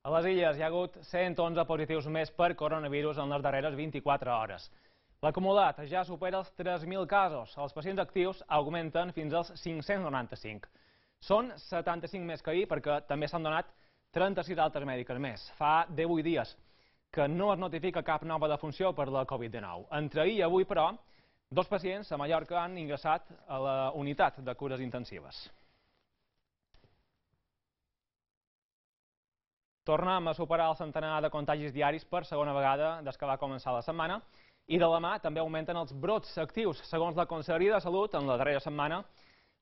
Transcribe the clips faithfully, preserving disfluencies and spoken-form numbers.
A les Illes hi ha hagut cent onze positius més per coronavirus en les darreres vint-i-quatre hores. L'acumulat ja supera els tres mil casos. Els pacients actius augmenten fins als cinc-cents noranta-cinc. Són setanta-cinc més que ahir perquè també s'han donat trenta-sis altes mèdiques més. Fa divuit dies que no es notifica cap nova defunció per la Covid dinou. Entre ahir i avui, però, dos pacients a Mallorca han ingressat a la unitat de cures intensives. Tornem a superar el centenar de contagis diaris per segona vegada des que va començar la setmana i de la mà també augmenten els brots actius. Segons la Conselleria de Salut, en la darrera setmana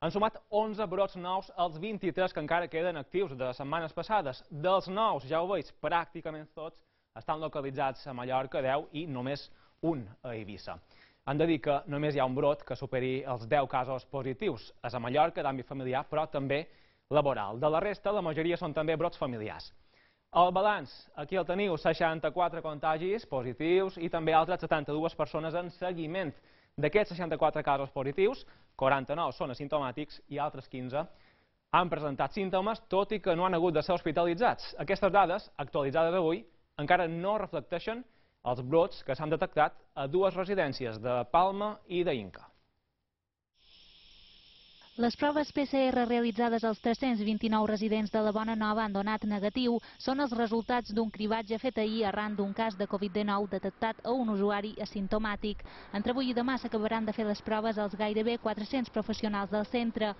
han sumat onze brots nous als vint-i-tres que encara queden actius de setmanes passades. Dels nous, ja ho veig, pràcticament tots estan localitzats a Mallorca, deu, i només un a Eivissa. Han de dir que només hi ha un brot que superi els deu casos positius. És a Mallorca, d'àmbit familiar, però també laboral. De la resta, la majoria són també brots familiars. El balanç, aquí el teniu, seixanta-quatre contagis positius i també altres setanta-dues persones en seguiment. D'aquests seixanta-quatre casos positius, quaranta-nou són asimptomàtics i altres quinze han presentat símptomes, tot i que no han hagut de ser hospitalitzats. Aquestes dades, actualitzades avui, encara no reflecteixen els brots que s'han detectat a dues residències de Palma i d'Inca. Les proves P C R realitzades als tres-cents vint-i-nou residents de la Bona Nova han donat negatiu. Són els resultats d'un cribatge fet ahir arran d'un cas de Covid dinou detectat a un usuari asimptomàtic. Entre avui i demà s'acabaran de fer les proves als gairebé quatre-cents professionals del centre.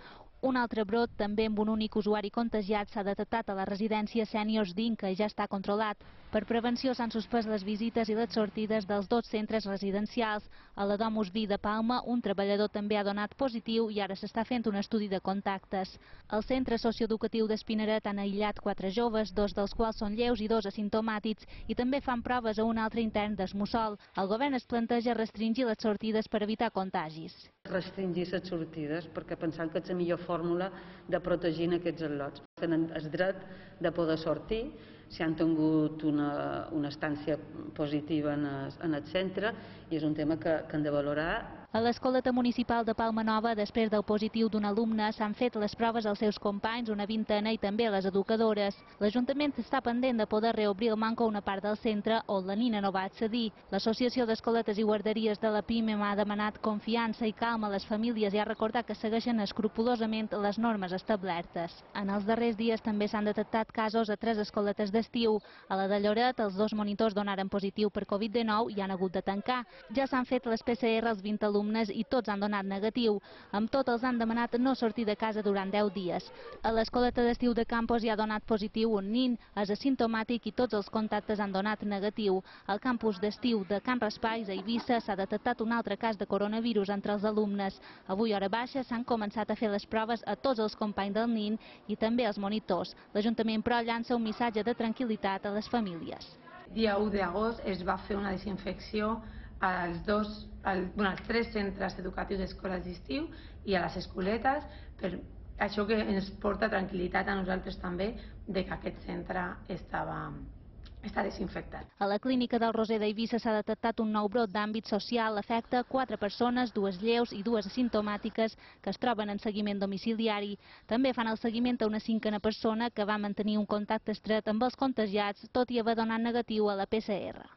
Un altre brot, també amb un únic usuari contagiat, s'ha detectat a la residència Sèniors d'Inca i ja està controlat. Per prevenció s'han suspès les visites i les sortides dels dos centres residencials. A la Domus Vi de Palma, un treballador també ha donat positiu i ara s'està fent un estudi de contactes. Al centre socioeducatiu d'Espinaret han aïllat quatre joves, dos dels quals són lleus i dos asimptomàtics, i també fan proves a un altre intern d'Esmussol. El govern es planteja restringir les sortides per evitar contagis. Restringir les sortides perquè pensant que és la millor fórmula de protegir aquests al·lots. Tenen el dret de poder sortir si han tingut una, una estància positiva en el, en el centre i és un tema que, que han de valorar. A l'Escoleta Municipal de Palma Nova, després del positiu d'un alumne, s'han fet les proves als seus companys, una vintena, i també a les educadores. L'Ajuntament està pendent de poder reobrir el manco a una part del centre on la nina no va accedir. L'Associació d'Escoletes i Guarderies de la PIME m'ha demanat confiança i calma a les famílies i ha recordat que segueixen escrupolosament les normes establertes. En els darrers dies també s'han detectat casos a tres escoletes d'estiu. A la de Lloret, els dos monitors donaren positiu per Covid dinou i han hagut de tancar. Ja s'han fet les P C R als vint alumnes i tots han donat negatiu. Amb tot els han demanat no sortir de casa durant deu dies. A l'escoleta d'estiu de Campos hi ha donat positiu un nin, és asimptomàtic i tots els contactes han donat negatiu. Al campus d'estiu de Can Raspall, a Eivissa, s'ha detectat un altre cas de coronavirus entre els alumnes. Avui, a hora baixa, s'han començat a fer les proves a tots els companys del nin i també als monitors. L'Ajuntament, però, llança un missatge de tranquil·litat a les famílies. Dia u d'agost es va fer una desinfecció als, dos, al, bueno, als tres centres educatius d'escoles d'estiu i a les escoletes, per això que ens porta tranquil·litat a nosaltres també de que aquest centre estava, està desinfectat. A la clínica del Roser d'Eivissa s'ha detectat un nou brot d'àmbit social. Afecta quatre persones, dues lleus i dues asimptomàtiques, que es troben en seguiment domiciliari. També fan el seguiment a una cinquena persona que va mantenir un contacte estret amb els contagiats, tot i haver donat negatiu a la P C R.